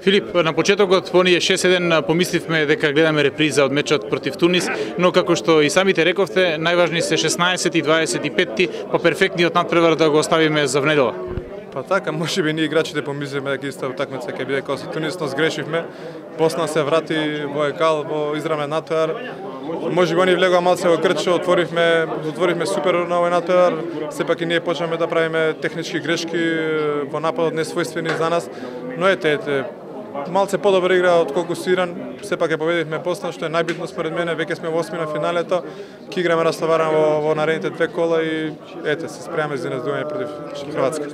Филип, на почетокот по оние 6-1 помисливме дека гледаме реприза од мечот против Тунис, но како што и самите рековте, најважни се 16 и 25, па перфектниот надпревар да го оставиме за внедела. Па така, можеби ние играчите помислиме дека иста утакмица ќе биде како со Тунис, но сгрешивме. Босна се врати во екал, во израмен надпревар. Можеби они влегоа малце во крчо, отворивме супер на овој надпревар. Сепак и ние почнеме да правиме технички грешки во нападот несвојствени за нас. Но ете, малце подобра игра отколку со Иран, сепак ја победивме Босна, што е најбитно според мене, веќе сме во осмина финалето, ќе играме растоварено во наредните две кола и ете, се спремаме за изненадување против Хрватска.